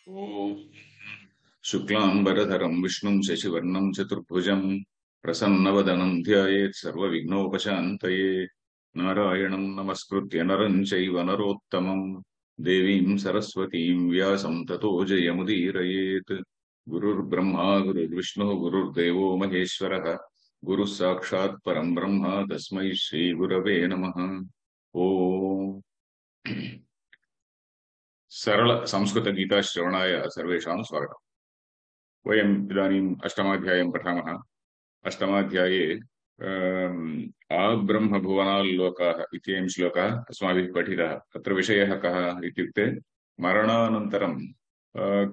ॐ शुक्लाम्बरधरं विष्णुं शशिवर्णं चतुर्भुजं प्रसन्नवदनं ध्यायेत् सर्वविघ्नोपशान्तये नारायणं नमस्कृत्य नरं चैव नरोत्तमं देवीं सरस्वतीं व्यासं ततो जयमुदीरयेत् गुरुर्ब्रह्मा गुरुर्विष्णुः गुरुर्देवो महेश्वरः गुरुः साक्षात् परं ब्रह्म तस्मै श्रीगुरवे नमः। ॐ सरल संस्कृत गीता श्रवणाय सर्वेषां स्वागतम्। वयम् इदानीम् अष्टमाध्यायं पठामः। अष्टमाध्याये आब्रह्मभुवनाल्लोकाः इत्ययं श्लोकः अस्माभिः पठितः। अत्र विषयः कः इत्युक्ते मरणानन्तरं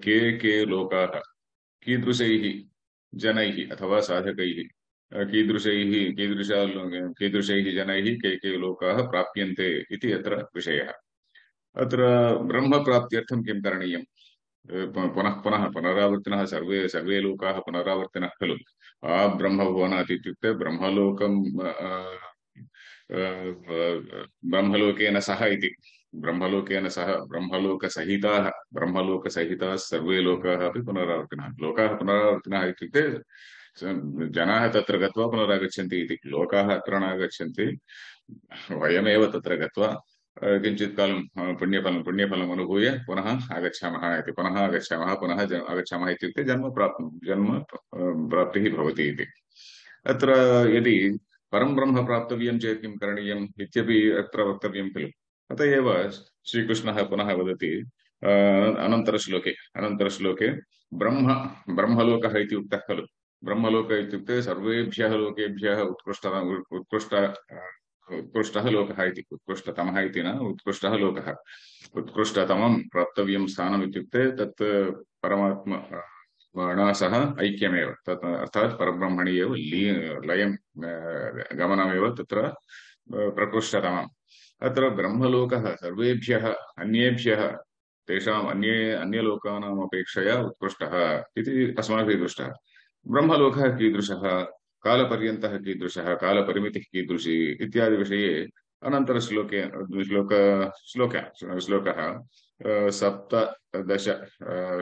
के लोकाः कीदृशैः जनैः अथवा साधकैः कीदृशैः जनैः के लोकाः प्राप्यन्ते इति अत्र विषयः। अत्र ब्रह्मप्राप्त्यर्थं किं करणीयम्? पुनः पुनः पुनरावर्तिनः सर्वे सर्वे लोकाः पुनरावर्तिनः खलु। ब्रह्मभुवनात् इत्युक्ते ब्रह्मलोकेन सह इति। ब्रह्मलोकेन सह ब्रह्मलोकसहिताः सर्वे लोकाः अपि पुनरावर्तिनः। लोकाः पुनरावर्तिनः इत्युक्ते जनाः तत्र गत्वा पुनरागच्छन्ति इति। लोकाः अत्र नागच्छन्ति, वयमेव तत्र गत्वा किञ्चित् कालं पुण्यफलम् अनुभूय पुनः आगच्छामः इति। पुनः आगच्छामः इत्युक्ते जन्म प्राप्तिः भवति इति। अत्र यदि परं ब्रह्म प्राप्तव्यं चेत् किं करणीयम् इत्यपि अत्र वक्तव्यं खलु। अत एव श्रीकृष्णः पुनः वदति अनन्तरश्लोके ब्रह्मलोकः इति उक्तः खलु। ब्रह्मलोक इत्युक्ते सर्वेभ्यः लोकेभ्यः उत्कृष्टः लोकः इति। उत्कृष्टतमः इति न, उत्कृष्टः लोकः। उत्कृष्टतमं प्राप्तव्यं स्थानम् इत्युक्ते तत् परमात्मना सह ऐक्यमेव। तत् अर्थात् परब्रह्मणि एव लयं गमनमेव तत्र प्रकृष्टतमम्। अत्र ब्रह्मलोकः सर्वेभ्यः अन्येभ्यः तेषाम् अन्यलोकानाम् अपेक्षया उत्कृष्टः इति अस्माभिः दृष्टः। ब्रह्मलोकः कीदृशः, कालपर्यन्तः कीदृशः, कालपरिमितिः कीदृशी इत्यादि विषये अनन्तरश्लोके श्लोकः सप्तदश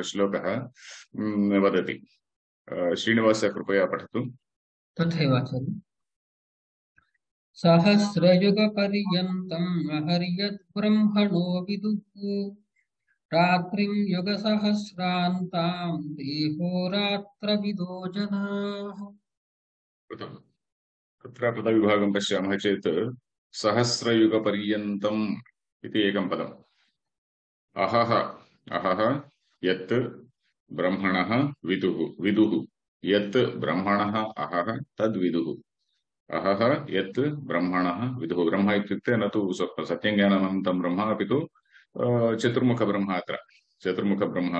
श्लोकः वदति। श्रीनिवास कृपया पठतु। तथैव आचार्य। सहस्रयुगपर्यन्तम् अहर्यद्ब्रह्मणो विदुः रात्रिं युगसहस्रान्ताम् देहोरात्रविदो जनाः। कृतम्। तत्र पदविभागं पश्यामः चेत् सहस्रयुगपर्यन्तम् इति एकं पदम्। अहः अहः यत् ब्रह्मणः विदुः यत् ब्रह्मणः अहः तद्विदुः। अहः यत् ब्रह्मणः विदुः। ब्रह्म इत्युक्ते न तु सत्यज्ञानमनन्तं ब्रह्म, अपि तु चतुर्मुखब्रह्म। अत्र चतुर्मुखब्रह्म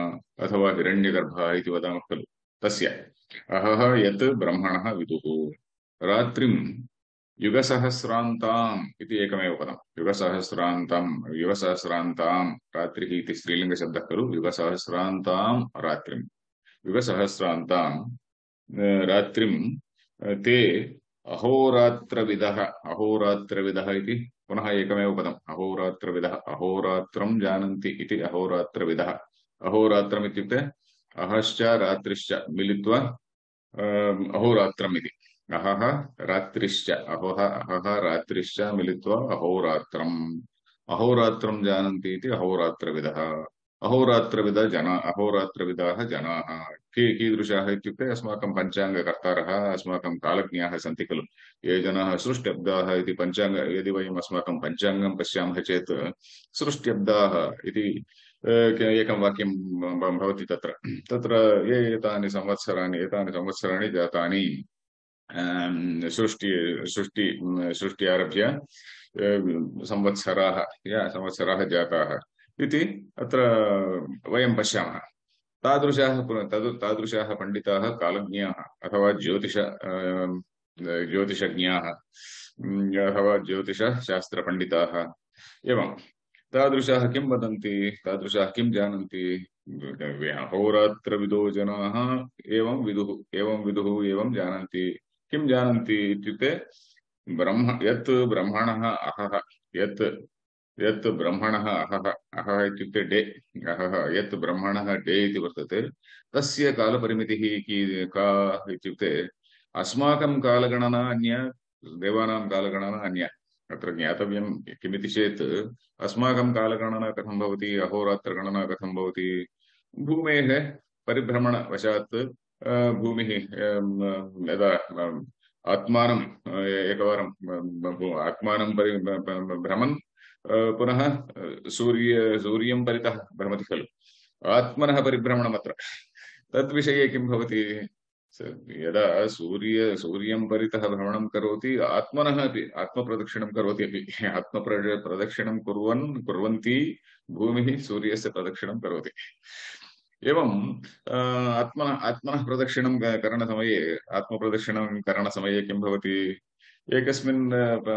अथवा हिरण्यगर्भः इति वदामः खलु, तस्य अहः यत् ब्रह्मणः विदुः। रात्रिं युगसहस्रान्ताम् इति एकमेव पदम्। युगसहस्रान्ताम् रात्रिः इति स्त्रीलिङ्गशब्दः खलु। युगसहस्रान्ताम् रात्रिं युगसहस्रान्ताम् रात्रिं ते अहोरात्रविदः इति पुनः एकमेव पदम्। अहोरात्रविदः अहोरात्रं जानन्ति इति अहोरात्रविदः। अहोरात्रम् इत्युक्ते अहश्च रात्रिश्च मिलित्वा अहोरात्रम् इति। अहः रात्रिश्च अहः रात्रिश्च मिलित्वा अहोरात्रम्। अहोरात्रं जानन्ति इति अहोरात्रविदः। अहोरात्रविदाः जनाः कीदृशाः इत्युक्ते अस्माकं पञ्चाङ्गकर्तारः, अस्माकं कालज्ञाः सन्ति खलु। ये जनाः सृष्ट्यब्दाः इति पञ्चाङ्ग यदि वयम् अस्माकं पञ्चाङ्गं पश्यामः चेत् सृष्ट्यब्दाः इति एकं वाक्यं भवति तत्र। तत्र ये एतानि संवत्सराणि जातानि सृष्टि आरभ्य संवत्सराः जाताः इति अत्र वयं पश्यामः। तादृशाः पण्डिताः कालज्ञाः अथवा ज्योतिषज्ञाः अथवा ज्योतिषशास्त्रपण्डिताः एवं तादृशाः किं वदन्ति, तादृशाः किं जानन्ति। अहोरात्रविदो जनाः एवं विदुः एवं जानन्ति। किं जानन्ति इत्युक्ते यत् ब्रह्मणः अहः यत् यत् ब्रह्मणः अहः अहः इत्युक्ते डे अहः यत् ब्रह्मणः डे इति वर्तते तस्य कालपरिमितिः का इत्युक्ते अस्माकं कालगणना अन्या देवानां कालगणना अन्या अत्र ज्ञातव्यं किमिति चेत् अस्माकं कालगणना कथं भवति अहोरात्रगणना कथं भवति भूमेः परिभ्रमणवशात् भूमिः यदा आत्मानं एकवारं आत्मानं भ्रमन् पुनः सूर्यं परितः भ्रमति खलु आत्मनः परिभ्रमणमत्र तद्विषये किं भवति यदा सूर्यं परितः भ्रमणं करोति आत्मनः अपि आत्मप्रदक्षिणं करोति अपि आत्मप्रदक्षिणं कुर्वन्ती भूमिः सूर्यस्य प्रदक्षिणं करोति एवं आत्मनः प्रदक्षिणं करणसमये आत्मप्रदक्षिणं करणसमये किं भवति एकस्मिन्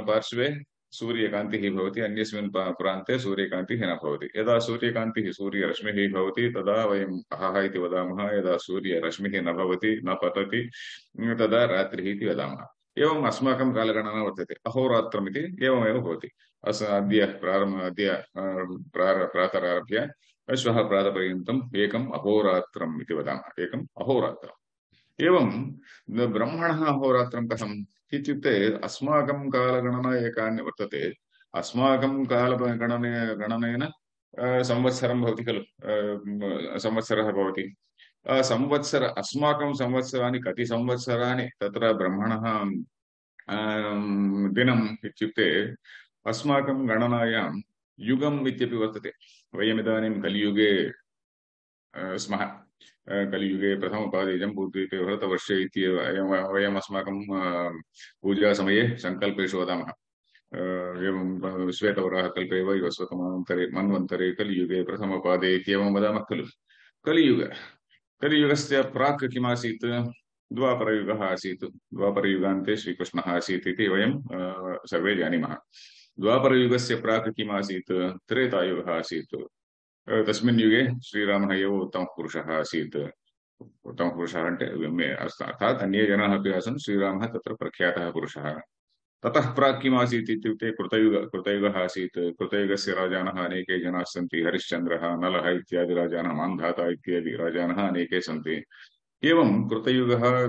पार्श्वे सूर्यकान्तिः भवति अन्यस्मिन् प्रान्ते सूर्यकान्तिः न भवति यदा सूर्यकान्तिः सूर्यरश्मिः भवति तदा वयम् अहः इति वदामः यदा सूर्यरश्मिः न भवति न पतति तदा रात्रिः इति वदामः एवम् अस्माकं कालगणना वर्तते अहोरात्रम् इति एवमेव भवति अद्य प्रातरारभ्य श्वः प्रातपर्यन्तम् एकम् अहोरात्रम् इति वदामः एकम् अहोरात्रम् एवं ब्रह्मणः अहोरात्रं कथम् इत्युक्ते अस्माकं कालगणना एकान्य वर्तते अस्माकं कालगणनेन संवत्सरं भवति खलु संवत्सरः भवति संवत्सर अस्माकं संवत्सराणि कति संवत्सराणि तत्र ब्रह्मणः दिनम् इत्युक्ते अस्माकं गणनायां युगम् इत्यपि वर्तते वयमिदानीं कलियुगे स्मः कलियुगे प्रथमपादे जम्बूद्वीपे भरतवर्षे इत्येव वयम् अस्माकं पूजासमये सङ्कल्पेषु वदामः एवं श्वेतवराहकल्पे वै वस्वतमन्वन्तरे मन्वन्तरे कलियुगे प्रथमपादे इत्येवं वदामः खलु कलियुगस्य प्राक् किमासीत् द्वापरयुगः आसीत् द्वापरयुगान्ते श्रीकृष्णः आसीत् इति वयं सर्वे जानीमः द्वापरयुगस्य प्राक् किमासीत् त्रेतायुगः आसीत् तस्मिन् युगे श्रीरामः एव उत्तमः पुरुषः आसीत् उत्तमः पुरुषः अर्थात् अन्ये जनाः अपि आसन् श्रीरामः तत्र प्रख्यातः पुरुषः ततः प्राक् किमासीत् इत्युक्ते कृतयुगः आसीत् कृतयुगस्य राजानः अनेके जनाः सन्ति हरिश्चन्द्रः नलः इत्यादि राजानः मान्धाता इत्यादि राजानः अनेके सन्ति एवं कृतयुगः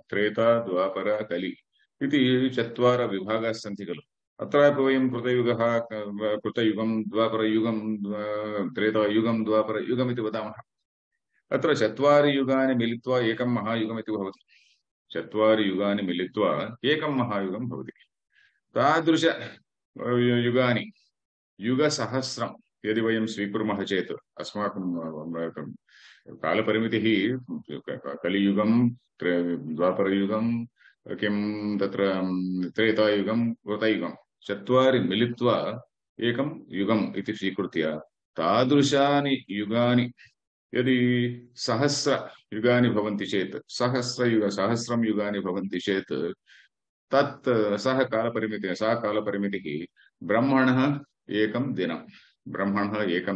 त्रेता द्वापर कलि इति चत्वारः विभागाः सन्ति खलु अत्रापि वयं कृतयुगं द्वापरयुगं त्रेतायुगं द्वापरयुगम् इति वदामः अत्र चत्वारि युगानि मिलित्वा एकं महायुगम् इति भवति चत्वारि युगानि मिलित्वा एकं महायुगं भवति तादृश युगानि युगसहस्रं यदि वयं स्वीकुर्मः चेत् अस्माकं कालपरिमितिः कलियुगं द्वापरयुगं किं तत्र त्रेतायुगं कृतयुगं चत्वारि मिलित्वा एकं युगम् इति स्वीकृत्य तादृशानि युगानि यदि सहस्रयुगानि भवन्ति चेत् सहस्रं युगानि भवन्ति चेत् तत् सा कालपरिमितिः ब्रह्मणः एकं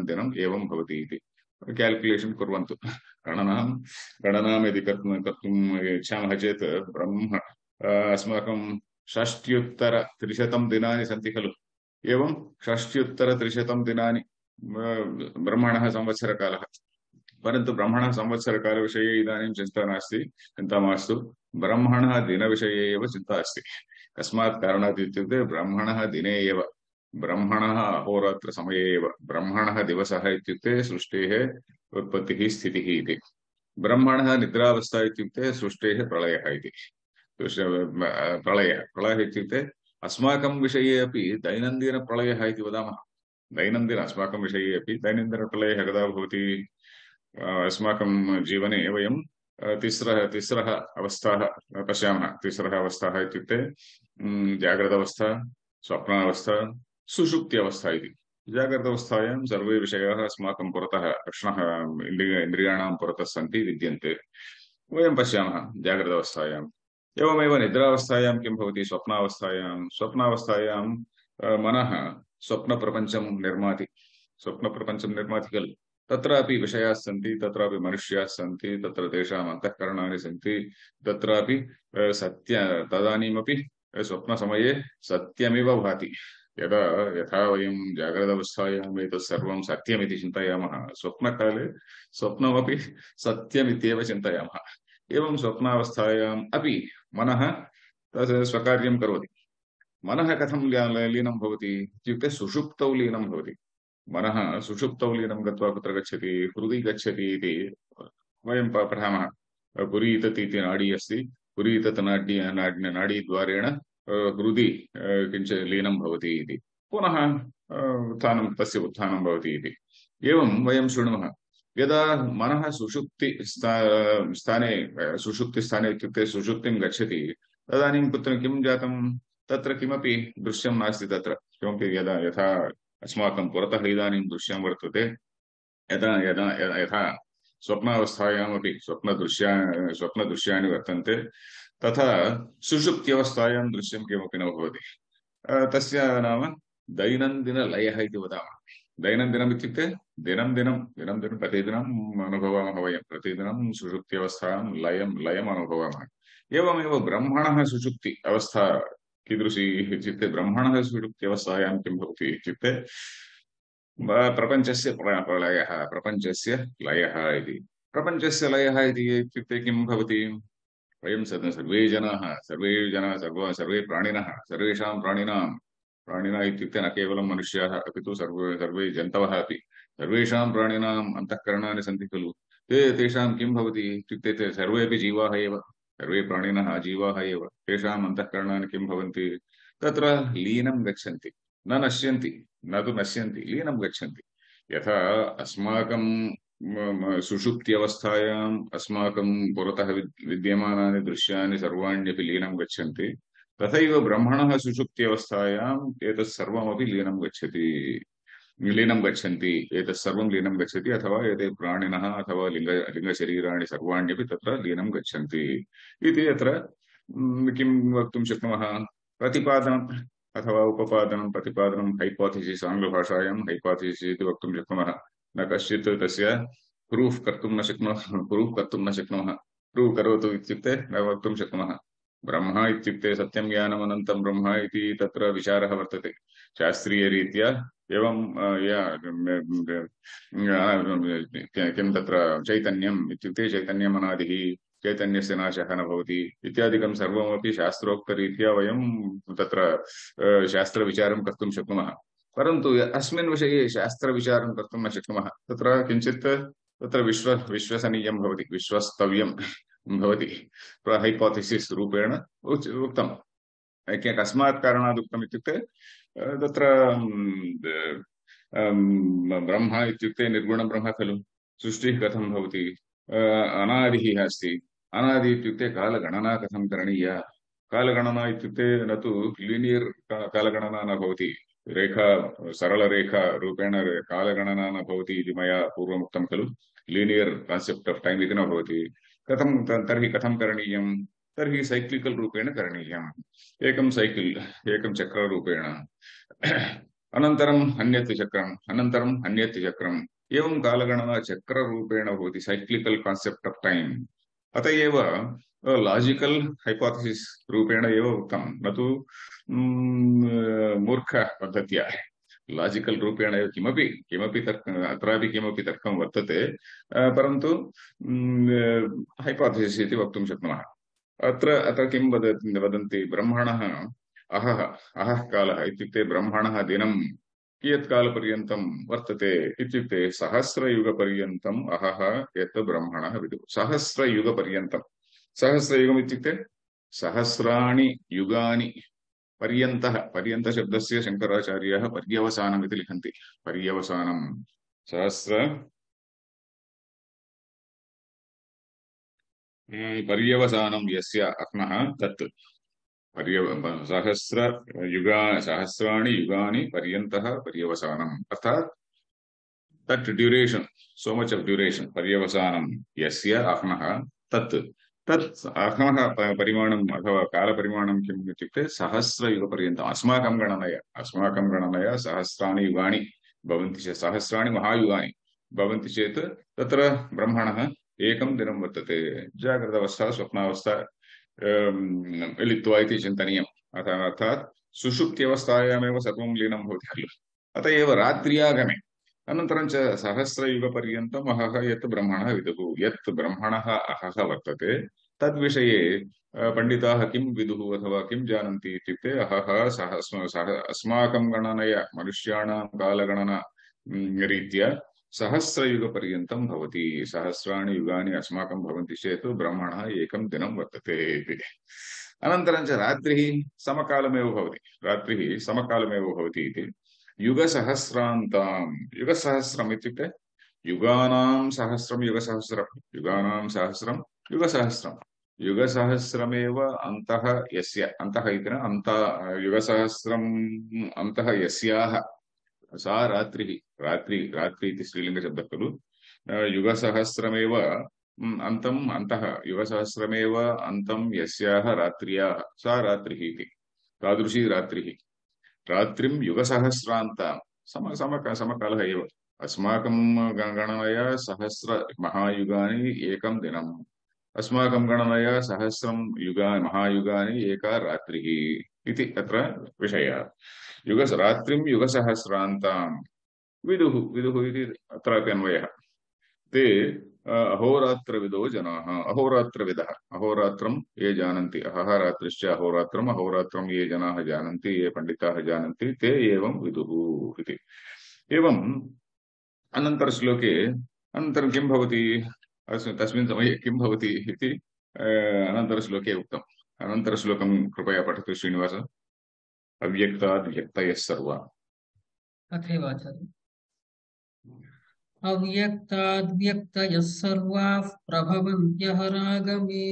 दिनम् एवं भवति इति क्याल्कुलेशन् कुर्वन्तु गणनां यदि कर्तुम् इच्छामः चेत् ब्रह्म अस्माकं 6,300 दिनानि सन्ति खलु एवं 6,300 दिनानि ब्रह्मणः संवत्सरकालः परन्तु ब्रह्मणः संवत्सरकालविषये इदानीं चिन्ता मास्तु ब्रह्मणः दिनविषये एव चिन्ता अस्ति कस्मात् कारणात् इत्युक्ते ब्रह्मणः दिने एव ब्रह्मणः अहोरात्रसमये एव ब्रह्मणः दिवसः इत्युक्ते सृष्टेः उत्पत्तिः स्थितिः इति ब्रह्मणः निद्रावस्था इत्युक्ते सृष्टेः प्रलयः इति प्रलयः इत्युक्ते अस्माकं विषये अपि दैनन्दिनप्रलयः इति वदामः अस्माकं विषये अपि दैनन्दिनप्रलयः कदा भवति अस्माकं जीवने वयं तिस्रः अवस्थाः पश्यामः तिस्रः अवस्थाः इत्युक्ते जाग्रदवस्था स्वप्नावस्था सुषुप्ति अवस्था इति जाग्रदवस्थायां सर्वे विषयाः अस्माकं पुरतः कृष्णः इन्द्रियाणां पुरतः सन्ति विद्यन्ते वयं पश्यामः जाग्रदवस्थायाम् एवमेव निद्रावस्थायां किं भवति स्वप्नावस्थायां मनः स्वप्नप्रपञ्चं निर्माति खलु तत्रापि विषयाः सन्ति तत्रापि मनुष्याः सन्ति तत्र तेषाम् अन्तःकरणानि सन्ति तत्रापि तदानीमपि स्वप्नसमये सत्यमिव भाति यदा यथा वयं जाग्रदवस्थायाम् एतत् सर्वं सत्यमिति चिन्तयामः, स्वप्नकाले स्वप्नमपि सत्यमित्येव चिन्तयामः। एवं स्वप्नावस्थायाम् अपि मनः तत् स्वकार्यं करोति। मनः कथं लीनं भवति इत्युक्ते सुषुप्तौ लीनं भवति। मनः सुषुप्तौ लीनं गत्वा कुत्र गच्छति, हृदि गच्छति इति वयं पठामः। पुरीतत् इति नाडी अस्ति, पुरीतत् नाडीद्वारेण हृदि किञ्चित् लीनं भवति इति, पुनः उत्थानं तस्य उत्थानं भवति इति। एवं वयं शृणुमः। यदा मनः स्थाने सुषुप्तिस्थाने इत्युक्ते सुषुप्तिं गच्छति, तदानीं कुत्र किं जातं, तत्र किमपि दृश्यं नास्ति। तत्र किमपि यथा अस्माकं पुरतः इदानीं दृश्यं वर्तते, यदा यदा यथा स्वप्नावस्थायामपि स्वप्नदृश्यानि वर्तन्ते, तथा सुषुप्त्यवस्थायां दृश्यं किमपि न भवति। तस्य नाम दैनन्दिनलयः इति वदामः। दैनन्दिनम् इत्युक्ते दिनं दिनं प्रतिदिनम् अनुभवामः वयं, प्रतिदिनं सुषुप्त्यवस्थां लयम् अनुभवामः। एवमेव ब्रह्मणः सुषुप्ति अवस्था कीदृशी इत्युक्ते, ब्रह्मणः सुषुप्त्यवस्थायां किं भवति इत्युक्ते प्रपञ्चस्य प्रलयः, प्रपञ्चस्य लयः इति। प्रपञ्चस्य लयः इत्युक्ते किं भवति, वयं सर्वे प्राणिनः, सर्वेषां प्राणिनः इत्युक्ते न केवलं मनुष्याः अपि तु सर्वे जन्तवः अपि, सर्वेषां प्राणिनाम् अन्तःकरणानि सन्ति खलु। तेषां किं भवति इत्युक्ते ते सर्वेपि जीवाः एव, सर्वे प्राणिनः जीवाः एव। तेषाम् अन्तःकरणानि किं भवन्ति, तत्र लीनं गच्छन्ति, न नश्यन्ति, न तु नश्यन्ति, लीनं गच्छन्ति। यथा अस्माकं सुषुप्त्यवस्थायाम् अस्माकं पुरतः विद्यमानानि दृश्यानि सर्वाण्यपि लीनं गच्छन्ति, तथैव ब्रह्मणः सुषुप्त्यवस्थायाम् एतत् सर्वमपि लीनं गच्छन्ति, एतत् सर्वं लीनं गच्छति, अथवा एते प्राणिनः अथवा लिङ्गशरीराणि सर्वाण्यपि तत्र लीनं गच्छन्ति इति। अत्र किं वक्तुं शक्नुमः, प्रतिपादनम् अथवा उपपादनं, प्रतिपादनं हैपोथेसिस्, आङ्ग्लभाषायां हैपोथेसिस् इति वक्तुं शक्नुमः। न कश्चित् तस्य प्रूफ् कर्तुं न शक्नुमः। प्रूव् करोतु इत्युक्ते न वक्तुं शक्नुमः। ब्रह्म इत्युक्ते सत्यं ज्ञानम् अनन्तं ब्रह्म इति तत्र विचारः वर्तते शास्त्रीयरीत्या। एवं किं तत्र चैतन्यम् इत्युक्ते चैतन्यम् अनादिः, चैतन्यस्य नाशः न भवति इत्यादिकं सर्वमपि शास्त्रोक्तरीत्या वयं तत्र शास्त्रविचारं कर्तुं शक्नुमः। परन्तु अस्मिन् विषये शास्त्रविचारं कर्तुं न शक्नुमः। तत्र किञ्चित् तत्र विश्वसनीयं भवति, विश्वस्तव्यं भवति, हैपोथेसिस् रूपेण उक्तम्। कस्मात् कारणात् उक्तम् इत्युक्ते तत्र ब्रह्म इत्युक्ते निर्गुणब्रह्म खलु, सृष्टिः कथं भवति, अनादिः अस्ति। अनादि इत्युक्ते कालगणना कथं करणीया, कालगणना इत्युक्ते न तु लीनियर् कालगणना न भवति, सरलरेखा रूपेण कालगणना न भवति इति मया पूर्वमुक्तं खलु। लीनियर् कान्सेप्ट् आफ् टैम् इति न भवति। तर्हि कथं करणीयं, तर्हि सैक्लिकल् रूपेण करणीयम्। एकं सैकिल्, एकं चक्ररूपेण, अनन्तरम् अन्यत् चक्रम्, अनन्तरम् अन्यत् चक्रम्, एवं कालगणना चक्ररूपेण भवति, सैक्लिकल् कान्सेप्ट् आफ् टैम्। अत एव लाजिकल हैपोथेसिस् रूपेण एव उक्तं, न तु मूर्ख पद्धत्या। लाजिकल रूपेण एव किमपि अत्रापि किमपि तर्कं वर्तते, परन्तु हैपोथेसिस् इति वक्तुं शक्नुमः। अत्र किं वदन्ति, ब्रह्मणः अहः कालः इत्युक्ते ब्रह्मणः दिनं कियत् कालपर्यन्तं वर्तते इत्युक्ते सहस्रयुगपर्यन्तम् अहः यत् ब्रह्मणः विदुः। सहस्रयुगपर्यन्तम्, सहस्रयुगम् इत्युक्ते सहस्राणि युगानि पर्यन्तः। पर्यन्तशब्दस्य शङ्कराचार्याः पर्यवसानम् इति लिखन्ति। पर्यवसानं पर्यवसानं यस्य अह्नः तत् सहस्राणि युगानि पर्यन्तः पर्यवसानम्, अर्थात् तत् ड्यूरेशन्, सो मच ऑफ ड्यूरेशन्, पर्यवसानं यस्य अह्नः तत् अह्नः परिमाणम् अथवा कालपरिमाणं किम् इत्युक्ते सहस्रयुगपर्यन्तम्। अस्माकं गणनया सहस्राणि युगानि भवन्ति चेत्, सहस्राणि महायुगानि भवन्ति चेत् तत्र ब्रह्मणः एकं दिनं वर्तते। जाग्रदवस्था स्वप्नावस्था मिलित्वा इति चिन्तनीयम्। अर्थात् सुषुप्त्यवस्थायामेव सर्वं लीनं भवति खलु। अत एव रात्र्यागमे अनन्तरं च सहस्रयुगपर्यन्तम् अहः यत् ब्रह्मणः विदुः, यत् ब्रह्मणः अहः वर्तते तद्विषये पण्डिताः किं विदुः अथवा किं जानन्ति इत्युक्ते अहः सह अस्माकं गणनया मनुष्याणां कालगणना रीत्या सहस्रयुगपर्यन्तं भवति। सहस्राणि युगानि अस्माकं भवन्ति चेत् ब्रह्मणः एकं दिनं वर्तते इति। अनन्तरं च रात्रिः समकालमेव भवति, रात्रिः समकालमेव भवति इति। युगसहस्रान्तां, युगसहस्रम् इत्युक्ते युगानां सहस्रं युगसहस्रं, युगानां सहस्रं युगसहस्रं, युगसहस्रमेव अन्तः यस्य, अन्तः इति न अन्त, युगसहस्रम् अन्तः यस्याः सा रात्रिः, रात्रि इति स्त्रीलिङ्गशब्दः खलु। युगसहस्रमेव अन्तम् अन्तः, युगसहस्रमेव अन्तं यस्याः रात्र्याः सा रात्रिः इति। तादृशी रात्रिः, रात्रिं युगसहस्रान्तां, समकालः एव। अस्माकं गणनया सहस्र महायुगानि एकं दिनम्, अस्माकं गणनया सहस्रं महायुगानि एका रात्रिः इति अत्र विषयः। रात्रिं युगसहस्रान्तां विदुः, विदुः इति अत्रापि अन्वयः। ते अहोरात्रविदो जनाः, अहोरात्रविदः, अहोरात्रं ये जानन्ति, अहः रात्रिश्च अहोरात्रम्, अहोरात्रं ये जनाः जानन्ति, ये पण्डिताः जानन्ति, ते एवं विदुः इति। एवम् अनन्तरश्लोके अनन्तरं किं भवति, तस्मिन् समये किं भवति इति अनन्तरश्लोके उक्तम्। अनन्तरश्लोकं कृपया पठतु श्रीनिवास। अव्यक्ताद् व्यक्तयः सर्वा, तथैव आचार्य। अव्यक्ताद्व्यक्तयः सर्वाः प्रभवन्त्यः रागमे,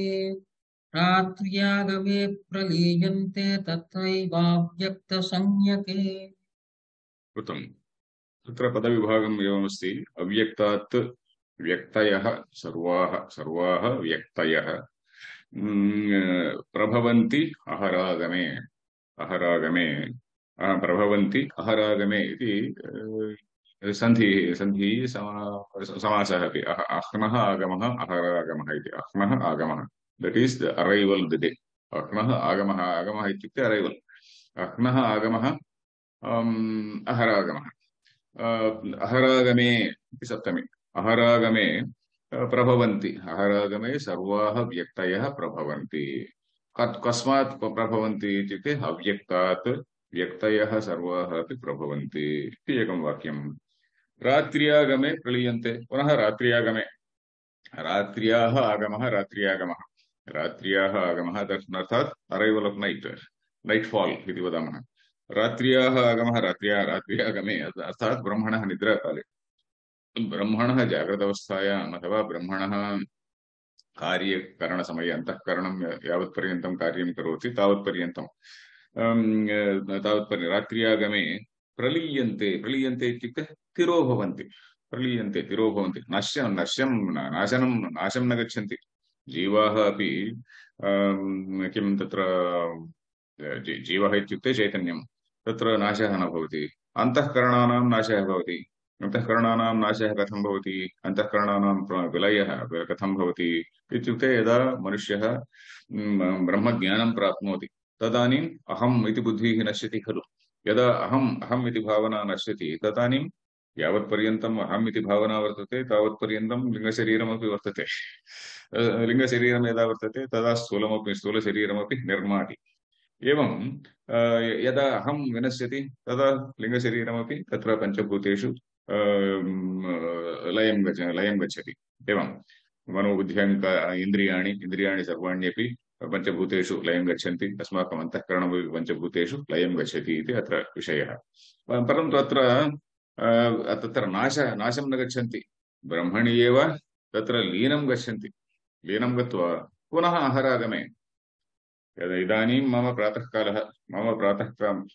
रात्र्यागमे प्रलीयन्ते तत्रैवाव्यक्तसंज्ञके। कृतम्। तत्र पदविभागम् एवमस्ति, अव्यक्तात् व्यक्तयः सर्वाः, सर्वाः व्यक्तयः प्रभवन्ति अहरागमे, अहरागमे प्रभवन्ति अहरागमे इति सन्धि समासः अपि। अह्नः आगमः अहरागमः इति। अह्नः आगमः, that is the arrival the day. अह्नः आगमः, आगमः इत्युक्ते अरैवल्। अह्नः आगमः अहरागमः। अहरागमे इति सप्तमी। अहरागमे प्रभवन्ति, अहरागमे सर्वाः व्यक्तयः प्रभवन्ति। कस्मात् प्रभवन्ति इत्युक्ते अव्यक्तात् व्यक्तयः सर्वाः अपि प्रभवन्ति इति एकं वाक्यम्। रात्र्यागमे प्रलीयन्ते, पुनः रात्र्यागमे, रात्र्याः आगमः, रात्र्यागमः, रात्र्याः आगमः अर्थात् arrival of night, night fall इति वदामः। रात्र्याः आगमः, रात्र्यागमे अर्थात् ब्रह्मणः निद्राकाले, ब्रह्मणः जाग्रदवस्थायाम् अथवा ब्रह्मणः कार्यकरणसमये, अन्तःकरणं यावत्पर्यन्तं कार्यं करोति तावत्पर्यन्तं, रात्र्यागमे प्रलीयन्ते, प्रलीयन्ते इत्युक्ते तिरो भवन्ति, प्रलीयन्ते तिरो भवन्ति, नाशं न गच्छन्ति। जीवाः अपि किं तत्र जीवः इत्युक्ते चैतन्यं, तत्र नाशः न भवति। अन्तःकरणानां नाशः भवति। अन्तःकरणानां नाशः कथं भवति, अन्तःकरणानां विलयः कथं भवति इत्युक्ते यदा मनुष्यः ब्रह्मज्ञानं प्राप्नोति तदानीम् अहम् इति बुद्धिः नश्यति खलु। यदा अहम् इति भावना नश्यति तदानीं यावत्पर्यन्तम् अहम् इति भावना वर्तते तावत्पर्यन्तं लिङ्गशरीरमपि वर्तते। लिङ्गशरीरं यदा वर्तते तदा स्थूलशरीरमपि निर्माति। एवं यदा अहं विनश्यति तदा लिङ्गशरीरमपि तत्र पञ्चभूतेषु लयं गच्छति। एवं इन्द्रियाणि सर्वाण्यपि पञ्चभूतेषु लयं गच्छन्ति, अस्माकम् अन्तःकरणमपि पञ्चभूतेषु लयं गच्छति इति अत्र विषयः। परन्तु तत्र नाशं न गच्छन्ति, ब्रह्मणि एव तत्र लीनं गच्छन्ति। लीनं गत्वा पुनः अहरागमे, इदानीं मम प्रातःकालः, मम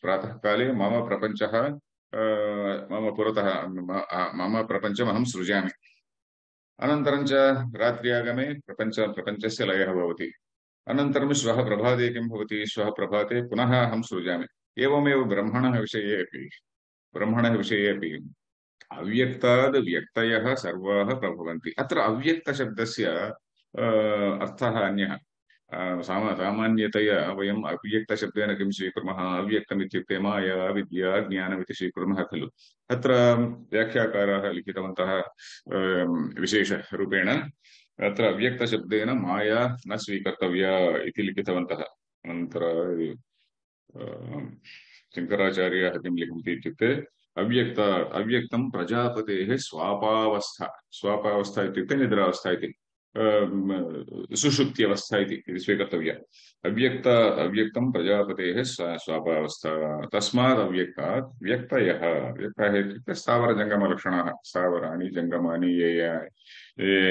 प्रातःकाले मम प्रपञ्चः मम पुरतः, मम प्रपञ्चमहं सृजामि। अनन्तरं च रात्र्यागमे प्रपञ्चस्य लयः भवति। अनन्तरं श्वः प्रभाते किं भवति, श्वः प्रभाते पुनः अहं सृजामि। एवमेव ब्रह्मणः विषये अपि अव्यक्ताद् व्यक्तयः सर्वाः प्रभवन्ति। अत्र अव्यक्तशब्दस्य अर्थः अन्यः। सामान्यतया वयम् अव्यक्तशब्देन किं स्वीकुर्मः अव्यक्तम् इत्युक्ते माया विद्या ज्ञानमिति स्वीकुर्मः खलु अत्र व्याख्याकाराः लिखितवन्तः विशेषरूपेण अत्र अव्यक्तशब्देन माया न स्वीकर्तव्या इति लिखितवन्तः अनन्तरं शङ्कराचार्याः किं लिखन्ति इत्युक्ते अव्यक्तं प्रजापतेः स्वापावस्था इत्युक्ते निद्रावस्था इति सुषुप्त्यवस्था इति स्वीकर्तव्या अव्यक्तं प्रजापतेः स्वापावस्था तस्मात् अव्यक्तात् व्यक्तयः व्यक्तयः इत्युक्ते स्थावरजङ्गमलक्षणाः स्थावराणि जङ्गमानि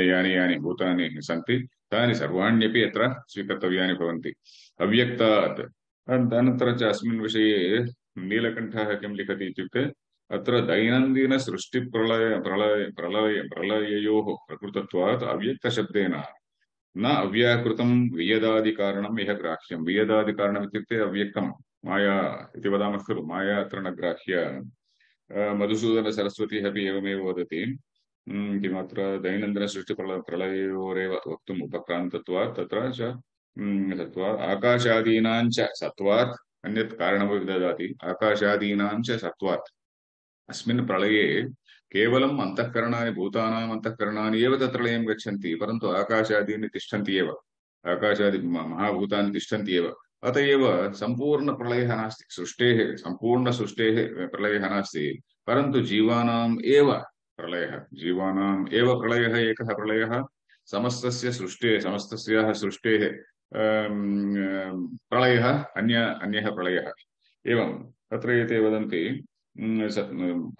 यानि यानि भूतानि सन्ति तानि सर्वाण्यपि अत्र स्वीकर्तव्यानि भवन्ति अव्यक्तात् अनन्तरं च अस्मिन् विषये नीलकण्ठः किं लिखति इत्युक्ते अत्र दैनन्दिन सृष्टि प्रलययोः प्रकृतत्वात् अव्यक्तशब्देन न अव्याकृतं वियदादिकारणम् इह ग्राह्यं वियदादिकारणम् इत्युक्ते अव्यक्तं माया इति वदामः खलु माया अत्र न ग्राह्या मधुसूदनसरस्वती अपि एवमेव वदति किमत्र दैनन्दिनसृष्टिप्रलययोरेव वक्तुम् उपक्रान्तत्वात् तत्र च सत्त्वात् आकाशादीनाञ्च सत्त्वात् अन्यत् कारणमपि ददाति आकाशादीनाञ्च सत्त्वात् अस्मिन् प्रलये केवलम् अन्तःकरणानि भूतानाम् अन्तःकरणानि एव तत्र लयं गच्छन्ति परन्तु आकाशादीनि तिष्ठन्ति एव आकाशादि महाभूतानि तिष्ठन्ति एव अत एव सम्पूर्णप्रलयः नास्ति सृष्टेः सम्पूर्णसृष्टेः प्रलयः नास्ति परन्तु जीवानाम् एव प्रलयः एकः प्रलयः समस्तस्य सृष्टेः समस्तस्याः सृष्टेः प्रलयः अन्यः प्रलयः एवं तत्र एते वदन्ति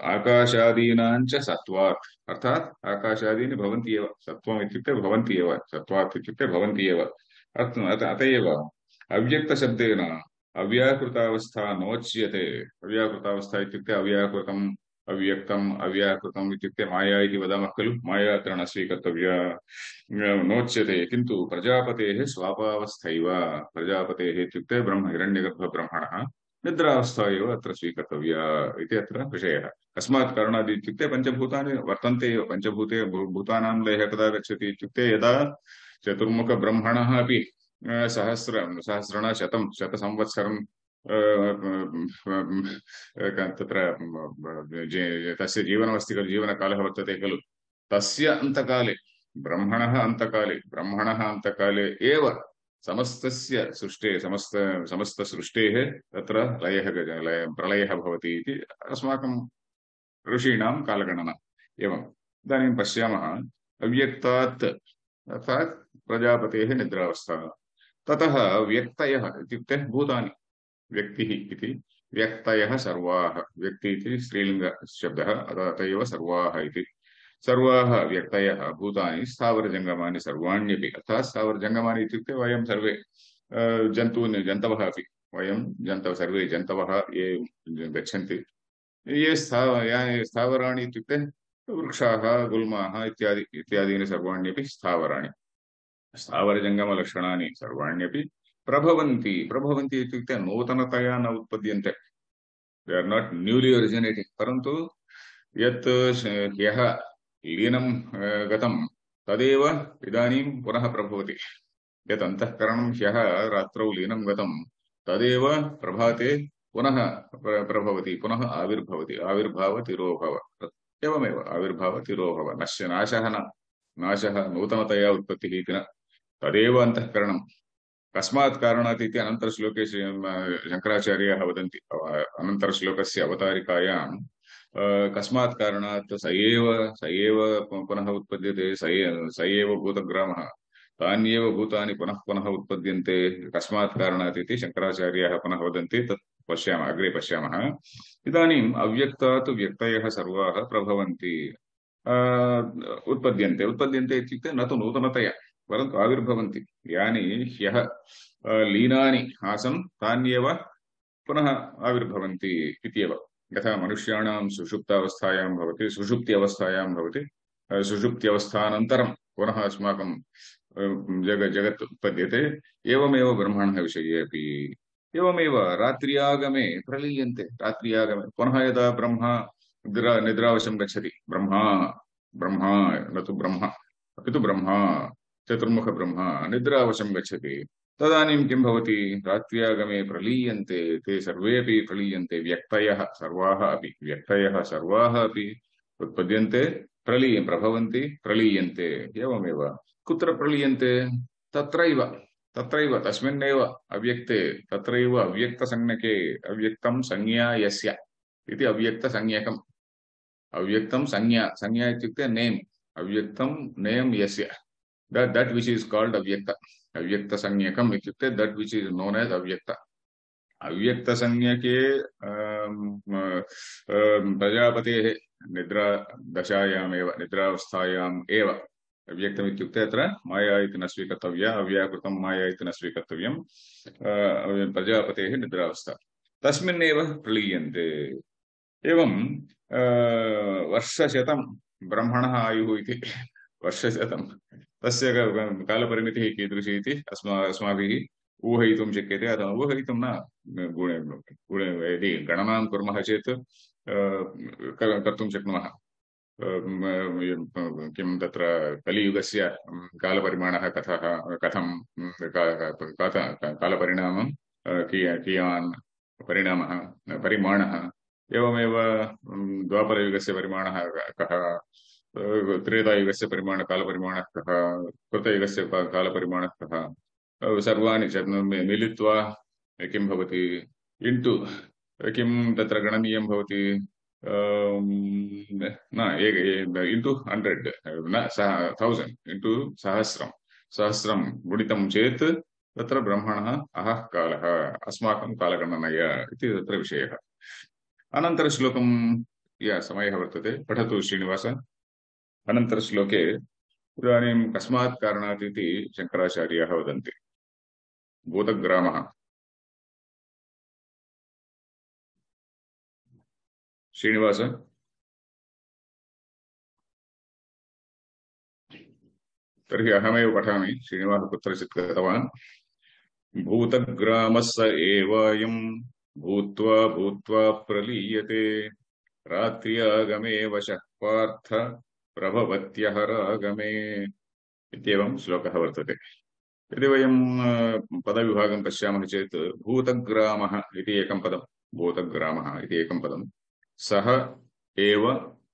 आकाशादीनाञ्च सत्त्वात् अर्थात् आकाशादीनि भवन्ति एव सत्त्वम् इत्युक्ते भवन्ति एव सत्त्वात् इत्युक्ते भवन्ति एव अत एव अव्यक्तशब्देन अव्याकृतावस्था नोच्यते अव्याकृतावस्था इत्युक्ते अव्याकृतम् इत्युक्ते माया इति वदामः खलु माया अत्र न स्वीकर्तव्या नोच्यते किन्तु प्रजापतेः स्वापावस्थैव प्रजापतेः इत्युक्ते हिरण्यगर्भब्रह्मणः निद्रावस्था एव अत्र स्वीकर्तव्या इति अत्र विषयः कस्मात् कारणात् इत्युक्ते पञ्चभूतानि वर्तन्ते एव भूतानां लयः कदा गच्छति इत्युक्ते यदा चतुर्मुखब्रह्मणः अपि शतसंवत्सरं तत्र तस्य जीवनमस्ति खलु जीवनकालः वर्तते खलु तस्य अन्तकाले ब्रह्मणः अन्तकाले एव समस्तस्य सृष्टेः समस्तसृष्टेः तत्र प्रलयः भवति इति अस्माकं ऋषीणां कालगणना एवम् इदानीं पश्यामः अव्यक्तात् अर्थात् प्रजापतेः निद्रावस्था ततः व्यक्तयः इत्युक्ते भूतानि व्यक्तिः इति व्यक्तयः सर्वाः व्यक्ति इति स्त्रीलिङ्गशब्दः अत एव सर्वाः इति सर्वाः व्यक्तयः भूतानि स्थावरजङ्गमानि सर्वाण्यपि अर्थात् स्थावरजङ्गमानि इत्युक्ते वयं सर्वे जन्तवः अपि वयं सर्वे जन्तवः ये गच्छन्ति ये स्थावराणि इत्युक्ते वृक्षाः गुल्माः इत्यादीनि सर्वाण्यपि स्थावराणि स्थावरजङ्गमलक्षणानि सर्वाण्यपि प्रभवन्ति इत्युक्ते नूतनतया न उत्पद्यन्ते दे आर् नाट् न्यूलि ओरिजिनेटिङ्ग् परन्तु यत् ह्यः लीनं गतं तदेव इदानीं पुनः प्रभवति यत् अन्तःकरणं ह्यः रात्रौ लीनं गतं तदेव प्रभाते पुनः प्रभवति पुनः आविर्भवति आविर्भावतिरोभव एवमेव आविर्भावतिरोभव नाशः नूतनतया उत्पत्तिः इति न तदेव अन्तःकरणं कस्मात् कारणात् इति अनन्तरश्लोके शङ्कराचार्याः वदन्ति अनन्तरश्लोकस्य अवतारिकायां कस्मात् कारणात् स एव पुनः उत्पद्यते स एव भूतग्रामः तान्येव भूतानि पुनः उत्पद्यन्ते कस्मात् कारणात् इति शङ्कराचार्याः पुनः वदन्ति तत् अग्रे पश्यामः इदानीम् अव्यक्तात् व्यक्तयः सर्वाः प्रभवन्ति उत्पद्यन्ते इत्युक्ते न तु नूतनतया परन्तु आविर्भवन्ति यानि ह्यः लीनानि आसन् तान्येव पुनः आविर्भवन्ति इत्येव यथा मनुष्याणां सुषुप्त्यावस्थायां भवति सुषुप्त्यवस्थानन्तरं पुनः अस्माकं जगत् उत्पद्यते एवमेव ब्रह्मणः विषये अपि एवमेव रात्र्यागमे प्रलीयन्ते पुनः यदा ब्रह्मा निद्रावशं गच्छति ब्रह्मा न तु ब्रह्म अपि तु ब्रह्मा चतुर्मुख ब्रह्मा निद्रावशं गच्छति तदानीं किं भवति रात्र्यागमे प्रलीयन्ते ते सर्वेपि प्रलीयन्ते व्यक्तयः सर्वाः अपि व्यक्तयः सर्वाः अपि उत्पद्यन्ते प्रभवन्ति प्रलीयन्ते एवमेव कुत्र प्रलीयन्ते तत्रैव तत्रैव तस्मिन्नेव अव्यक्ते तत्रैव अव्यक्तसंज्ञके अव्यक्तं संज्ञा यस्य इति अव्यक्तसंज्ञकम् अव्यक्तं संज्ञा संज्ञा इत्युक्ते नेम् अव्यक्तं नेम् यस्य that which is called avyakta avyakta sanyakam ityukte that which is known as avyakta avyakta sanyake प्रजापतेः निद्रा दशायाम् एव निद्रावस्थायाम् एव अव्यक्तम् इत्युक्ते अत्र माया इति न स्वीकर्तव्या अव्याकृतं माया इति न स्वीकर्तव्यं प्रजापतेः निद्रावस्था तस्मिन्नेव प्रलीयन्ते एवं वर्षशतं ब्रह्मणः आयुः इति वर्षशतं तस्य कालपरिमितिः कीदृशी इति अस्माभिः ऊहयितुं शक्यते अथवा ऊहयितुं न यदि गणनां कुर्मः चेत् कर्तुं शक्नुमः किं तत्र कलियुगस्य कालपरिमाणः कथं कालपरिणामं कियान् परिमाणः एवमेव द्वापरयुगस्य परिमाणः कः त्रेतायुगस्य कालपरिमाणः कः कृतयुगस्य कालपरिमाणः कः सर्वाणि मिलित्वा किं भवति इण्टु किं तत्र गणनीयं भवति न इण्टु 100 न 1000 इण्टु सहस्रं गुणितं चेत् तत्र ब्रह्मणः अहः कालः अस्माकं कालगणनया इति तत्र विषयः अनन्तरश्लोकं समयः वर्तते पठतु श्रीनिवास अनन्तरश्लोके इदानीं कस्मात् कारणात् इति शङ्कराचार्याः वदन्ति भूतग्रामः श्रीनिवास तर्हि अहमेव पठामि श्रीनिवासः कुत्रचित् गतवान् भूतग्रामः स एवायं भूत्वा भूत्वा प्रलीयते रात्र्यागमे वशः पार्थ प्रभवत्यहरागमे इत्येवं श्लोकः वर्तते यदि वयं पदविभागं पश्यामः चेत् भूतग्रामः इति एकं पदं भूतग्रामः इति एकं पदं सः एव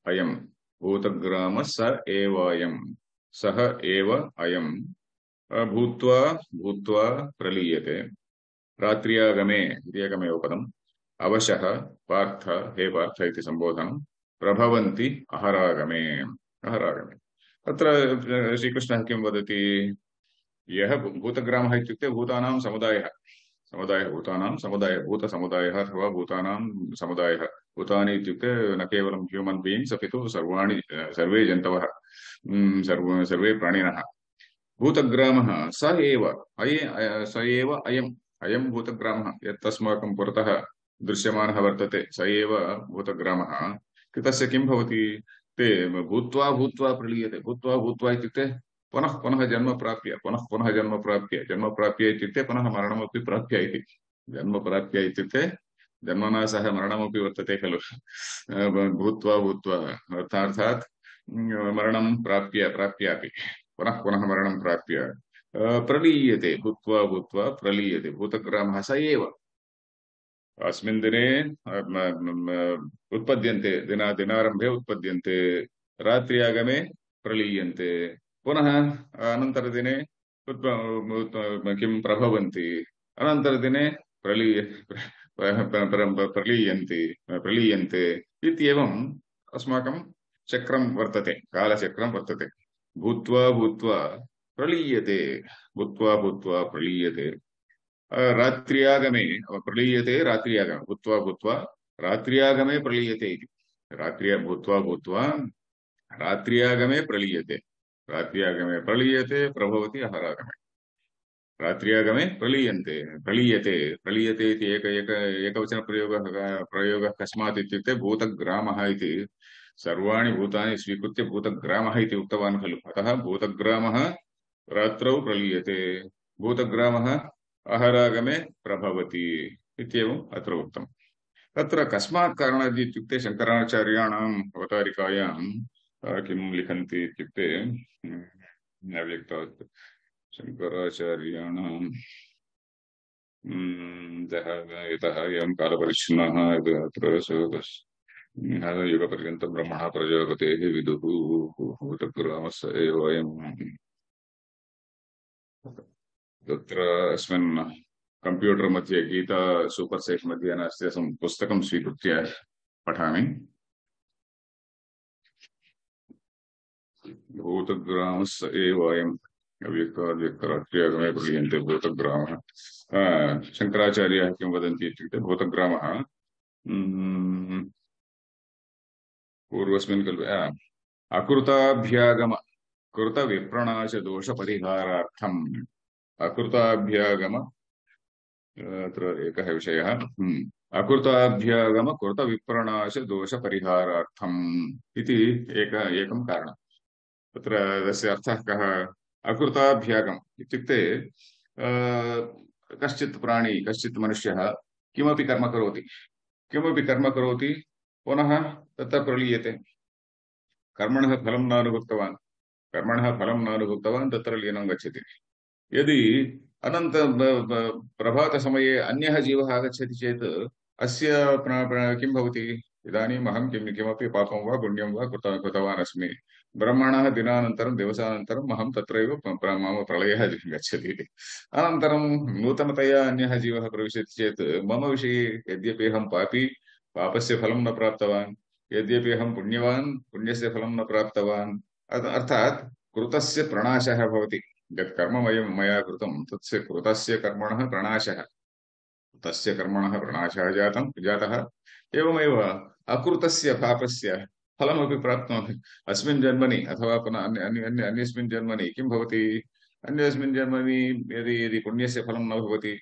अयं भूतग्रामः स एवायं सः एव अयं भूत्वा भूत्वा प्रलीयते रात्र्यागमे इति एकमेव पदम् अवशः पार्थ हे पार्थ इति सम्बोधनं प्रभवन्ति अहरागमे अहरागमे अत्र श्रीकृष्णः किं वदति यः भूतग्रामः इत्युक्ते भूतानां समुदायः भूतानां समुदायः भूतसमुदायः अथवा भूतानां समुदायः भूतानि इत्युक्ते न केवलं ह्यूमन् बीइङ्ग्स् अपि तु सर्वे जन्तवः सर्वे प्राणिनः भूतग्रामः स एव अयं भूतग्रामः यत् अस्माकं पुरतः दृश्यमानः वर्तते स एव भूतग्रामः तस्य किं भवति ते भूत्वा भूत्वा प्रलीयते भूत्वा इत्युक्ते पुनः पुनः जन्म प्राप्य इत्युक्ते पुनः मरणमपि प्राप्य इति जन्म प्राप्य इत्युक्ते जन्मना सह मरणमपि वर्तते खलु भूत्वा भूत्वा अर्थात् मरणं प्राप्यापि पुनः पुनः मरणं प्राप्य प्रलीयते भूत्वा भूत्वा प्रलीयते भूतग्रामः स एव अस्मिन् दिने उत्पद्यन्ते दिनारम्भे उत्पद्यन्ते रात्र्यागमे प्रलीयन्ते पुनः अनन्तरदिने किं प्रभवन्ति अनन्तरदिने प्रलीयन्ते इत्येवम् अस्माकं चक्रं वर्तते कालचक्रं वर्तते भूत्वा भूत्वा प्रलीयते भूत्वा भूत्वा प्रलीयते रात्र्यागमे प्रलीयते रात्र्यागमे भूत्वा भूत्वा रात्र्यागमे प्रलीयते इति भूत्वा भूत्वा रात्र्यागमे प्रलीयते प्रभवति अहरागमे रात्र्यागमे प्रलीयते इति एकवचनप्रयोगः कस्मात् इत्युक्ते भूतग्रामः इति सर्वाणि भूतानि स्वीकृत्य भूतग्रामः इति उक्तवान् खलु अतः भूतग्रामः रात्रौ प्रलीयते भूतग्रामः अहरागमे प्रभवति इत्येवम् अत्र उक्तम् तत्र कस्मात् कारणात् इत्युक्ते शङ्कराचार्याणाम् अवतारिकायां किं लिखन्ति इत्युक्ते अव्यक्तात् शङ्कराचार्याणां यतः एवं कालपरिच्छिन्नः अत्र युगपर्यन्तं ब्रह्मणः प्रजापतेः विदुः भूतग्रामस्य एव वयम् तत्र अस्मिन् कंप्यूटर् मध्ये गीता सूपर् सेट् मध्ये नास्ति पुस्तकं स्वीकृत्य पठामि। भूतग्रामस्य एव अयम् अव्यक्ताद्व्यक्तराष्ट्रियागमे प्रलीयन्ते भूतग्रामः। शङ्कराचार्याः किं वदन्ति इत्युक्ते भूतग्रामः पूर्वस्मिन् कल्पे अकृताभ्यागम कृतविप्रणाशदोषपरिहारार्थम् अकृताभ्यागम अत्र एकः विषयः अकृताभ्यागम कृतविप्रणाशदोषपरिहारार्थम् इति एकं कारणम्। तत्र तस्य अर्थः कः? अकृताभ्यागम इत्युक्ते कश्चित् प्राणी कश्चित् मनुष्यः किमपि कर्म करोति पुनः तत्र प्रलीयते। कर्मणः फलं नानुभुक्तवान् तत्र लीनं गच्छति। यदि अनन्त प्रभातसमये अन्यः जीवः आगच्छति चेत् अस्य किं भवति? इदानीम् अहं किमपि पापं वा पुण्यं वा कृतवान् अस्मि। ब्रह्मणः दिवसानन्तरम् अहं तत्रैव मम प्रलयः गच्छति। अनन्तरं नूतनतया अन्यः जीवः प्रविशति चेत् मम विषये यद्यपि अहं पापी पापस्य फलं न प्राप्तवान्, यद्यपि अहं पुण्यवान् पुण्यस्य फलं न प्राप्तवान्, अर्थात् कृतस्य प्रणाशः भवति। यत् कर्म मया कृतं तस्य कृतस्य कर्मणः प्रणाशः जातः। एवमेव अकृतस्य पापस्य फलमपि प्राप्नोति अस्मिन् जन्मनि अथवा पुनः अन्यस्मिन् जन्मनि। किं भवति? अन्यस्मिन् जन्मनि यदि पुण्यस्य फलं न भवति,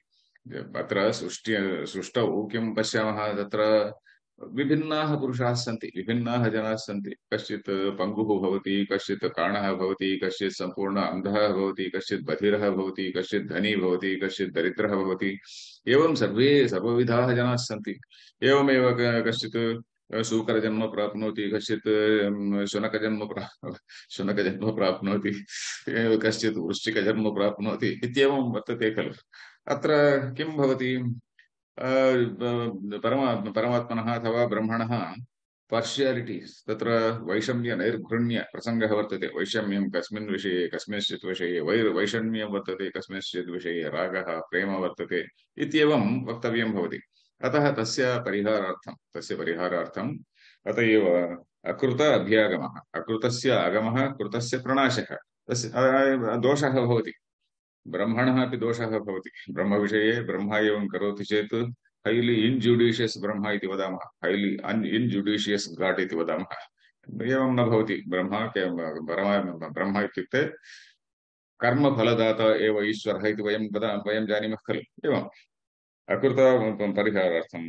अत्र सृष्टौ किं पश्यामः? तत्र विभिन्नाः पुरुषाः सन्ति, विभिन्नाः जनाः सन्ति। कश्चित् पङ्गुः भवति, कश्चित् काणः भवति, कश्चित् सम्पूर्ण अन्धः भवति, कश्चित् बधिरः भवति, कश्चित् धनी भवति, कश्चित् दरिद्रः भवति। एवं सर्वविधाः जनाः सन्ति। एवमेव कश्चित् शूकरजन्म प्राप्नोति, कश्चित् शुनकजन्म प्राप्नोति, कश्चित् वृश्चिकजन्म प्राप्नोति इत्येवं वर्तते खलु। अत्र किं भवति? परमात्मनः अथवा ब्रह्मणः पार्शियालिटीस्, तत्र वैषम्य नैर्घृण्य प्रसङ्गः वर्तते। वैषम्यं कस्मिन् विषये कस्मिंश्चित् विषये वैषम्यं वर्तते, कस्मिंश्चित् विषये रागः प्रेम वर्तते इत्येवं वक्तव्यं भवति। अतः तस्य परिहारार्थम् अत एव अकृत अभ्यागमः, अकृतस्य आगमः कृतस्य प्रणाशः, तस्य दोषः भवति। ब्रह्मणः अपि दोषः भवति। ब्रह्मविषये ब्रह्म एवं करोति चेत् हैलि इन्जुडिशियस् ब्रह्म इति वदामः, हैलि इन्जुडिशियस् गाड् इति वदामः। एवं न भवति। ब्रह्म इत्युक्ते कर्मफलदाता एव ईश्वरः इति वयं जानीमः खलु। एवम् अकृत परिहारार्थं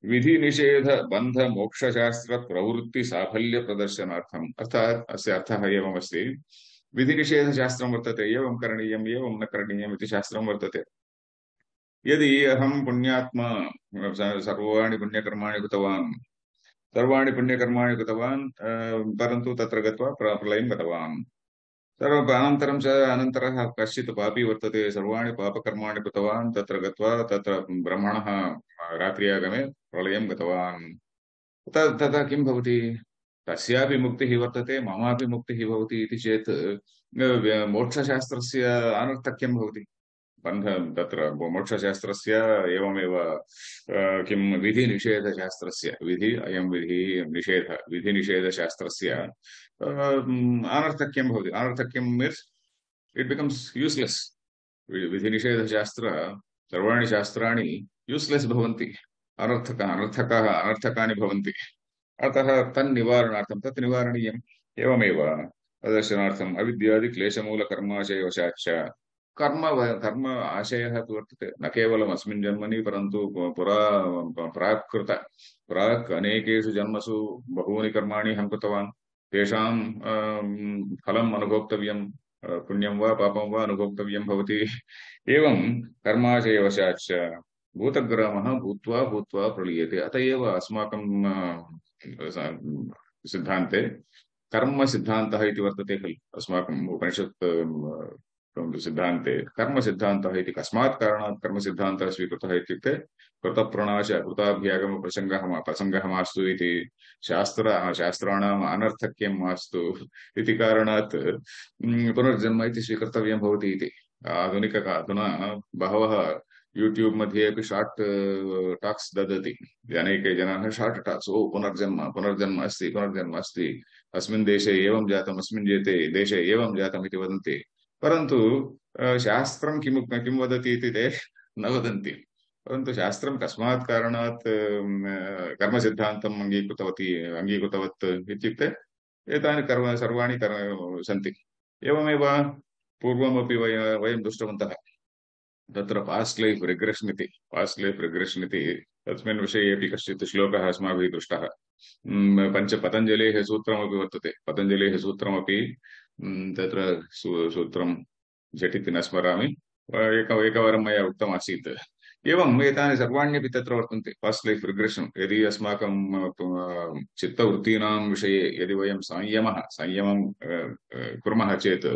विधिनिषेध बन्ध मोक्षशास्त्र प्रवृत्ति साफल्य प्रदर्शनार्थम्। अर्थात् अस्य अर्थः एवमस्ति। विधिनिषेधशास्त्रं वर्तते, एवं करणीयम् एवं न करणीयम् इति शास्त्रं वर्तते। यदि अहं पुण्यात्मा सर्वाणि पुण्यकर्माणि कृतवान् परन्तु तत्र गत्वा प्रलयं गतवान्। अनन्तरः कश्चित् पापी वर्तते, सर्वाणि पापकर्माणि कृतवान्, तत्र गत्वा तत्र ब्रह्मणः रात्र्यागमे प्रलयं गतवान्। तदा किं भवति? तस्यापि मुक्तिः वर्तते, ममापि मुक्तिः भवति इति चेत् मोक्षशास्त्रस्य अनर्थक्यं भवति। तत्र मोक्षशास्त्रस्य एवमेव किं विधिनिषेधशास्त्रस्य विधिनिषेधशास्त्रस्य अनर्थक्यं भवति। अनर्थक्यं मीन्स् इट् बिकम्स् यूस्लेस्। विधिनिषेधशास्त्र सर्वाणि शास्त्राणि यूस्लेस् भवन्ति, अनर्थकानि भवन्ति। अतः तन्निवारणार्थं तत् निवारणीयम्। एवमेव प्रदर्शनार्थम् अविद्यादिक्लेशमूलकर्माशयवशाच्च कर्म आशयः तु वर्तते न केवलम् अस्मिन् जन्मनि, परन्तु प्राक् अनेकेषु जन्मसु बहूनि कर्माणि अहं कृतवान्। तेषां फलम् अनुभोक्तव्यं, पुण्यं वा पापं वा अनुभोक्तव्यं भवति। एवं कर्माशयवशाच्च भूतग्रामः भूत्वा प्रलीयते। अत एव अस्माकं सिद्धान्ते कर्मसिद्धान्तः इति वर्तते खलु। अस्माकम् उपनिषत् सिद्धान्ते कर्मसिद्धान्तः इति कस्मात् कारणात् कर्मसिद्धान्तः स्वीकृतः इत्युक्ते कृतप्रणाश प्रसङ्गः मास्तु इति शास्त्राणाम् अनर्थक्यं मास्तु इति कारणात् पुनर्जन्म इति स्वीकर्तव्यं भवति इति अधुना बहवः यूट्यूब मध्ये अपि शार्ट् टाक्स् ददति अनेके जनाः शार्ट् टाक्स् पुनर्जन्म अस्ति अस्मिन् देशे एवं जातम् अस्मिन् देशे एवं जातम् इति वदन्ति परन्तु शास्त्रं किं वदति इति ते न वदन्ति परन्तु शास्त्रं कस्मात् कारणात् कर्मसिद्धान्तम् अङ्गीकृतवत् इत्युक्ते एतानि सर्वाणि सन्ति एवमेव पूर्वमपि वयं दृष्टवन्तः तत्र पास्ट लाइफ रिग्रेशन इति तस्मिन् विषये अपि कश्चित् श्लोकः अस्माभिः दृष्टः पतञ्जलेः सूत्रमपि वर्तते पतञ्जलेः सूत्रमपि तत्र सूत्रं झटिति न स्मरामि एकवारं मया उक्तमासीत् एवम् एतानि सर्वाण्यपि तत्र वर्तन्ते पास्ट लाइफ रिग्रेशन यदि अस्माकं चित्तवृत्तीनां विषये यदि वयं संयमं कुर्मः चेत्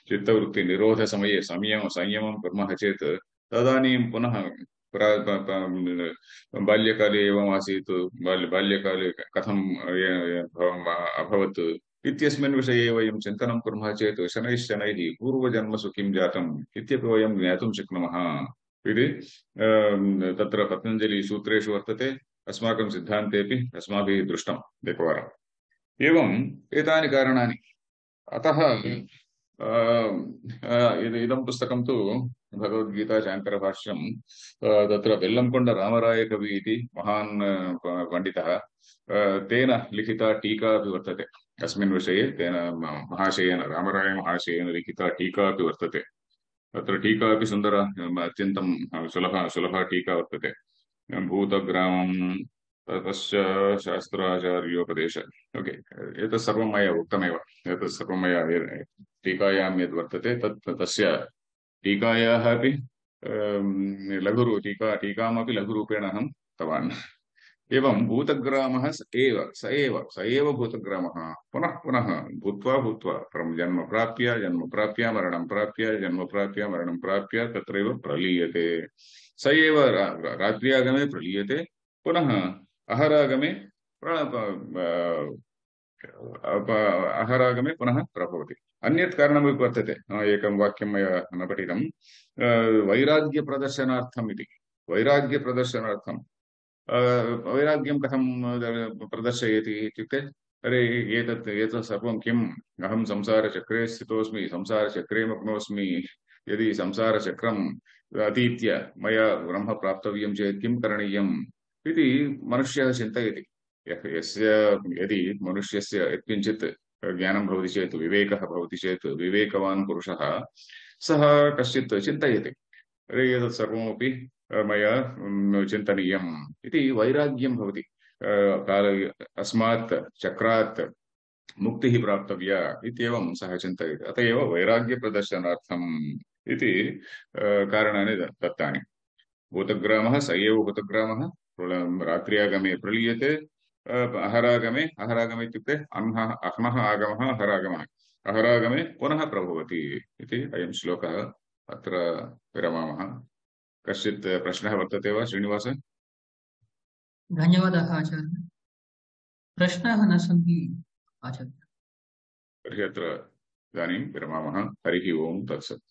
चित्तवृत्ति निरोध समये संयमं कुर्मः चेत् तदानीं पुनः बाल्यकाले एवम् आसीत् बाल्यकाले कथम् अभवत् इत्यस्मिन् विषये वयं चिन्तनं कुर्मः चेत् शनैः पूर्वजन्मसु किं जातम् इत्यपि वयं ज्ञातुं शक्नुमः इति तत्र पतञ्जलिसूत्रेषु वर्तते अस्माकं सिद्धान्तेपि अस्माभिः दृष्टम् एकवारम् एवम् एतानि कारणानि अतः इदं पुस्तकं तु भगवद्गीता शाङ्करभाष्यं तत्र बेल्लंकोण्ड रामरायकवि इति महान् पण्डितः तेन लिखिता टीका अपि वर्तते अस्मिन् विषये तेन रामराय महाशयेन लिखिता टीका अपि वर्तते तत्र टीका अपि सुन्दर अत्यन्तं सुलभा टीका वर्तते भूतग्रामं तस्य शास्त्राचार्योपदेश ओके एतत् सर्वं मया उक्तमेव एतत् सर्वं मया टीकायां यद् वर्तते तस्य टीकायाः अपि टीकामपि लघुरूपेण अहं दत्तवान् एवं भूतग्रामः स एव भूतग्रामः पुनः पुनः भूत्वा जन्म प्राप्य मरणं प्राप्य तत्रैव प्रलीयते स एव रात्र्यागमे प्रलीयते पुनः अहरागमे पुनः प्रभवति अन्यत् कारणमपि वर्तते एकं वाक्यं मया न पठितं वैराग्यप्रदर्शनार्थम् इति वैराग्यप्रदर्शनार्थं वैराग्यं कथं प्रदर्शयति इत्युक्ते अरे एतत् सर्वं किम् अहं संसारचक्रे स्थितोऽस्मि संसारचक्रे मग्नोऽस्मि यदि संसारचक्रम् अतीत्य मया ब्रह्म प्राप्तव्यं चेत् किं करणीयम् इति मनुष्यः चिन्तयति यदि मनुष्यस्य यत्किञ्चित् ज्ञानं भवति चेत् विवेकः भवति चेत् विवेकवान् पुरुषः सः कश्चित् चिन्तयति अरे एतत् सर्वमपि मया चिन्तनीयम् इति वैराग्यं भवति अस्मात् चक्रात् मुक्तिः प्राप्तव्या इत्येवं सः चिन्तयति अत एव वैराग्यप्रदर्शनार्थम् इति कारणानि दत्तानि भूतग्रामः स एव भूतग्रामः रात्र्यागमे प्रलीयते अहरागमे इत्युक्ते अह्नः आगमः अहरागमे पुनः प्रभवति इति अयं श्लोकः अत्र विरमामः कश्चित् प्रश्नः वर्तते वा श्रीनिवास धन्यवादः आचार्य प्रश्नाः न सन्ति आचार्य तर्हि अत्र इदानीं विरमामः हरिः ओं तत्सत्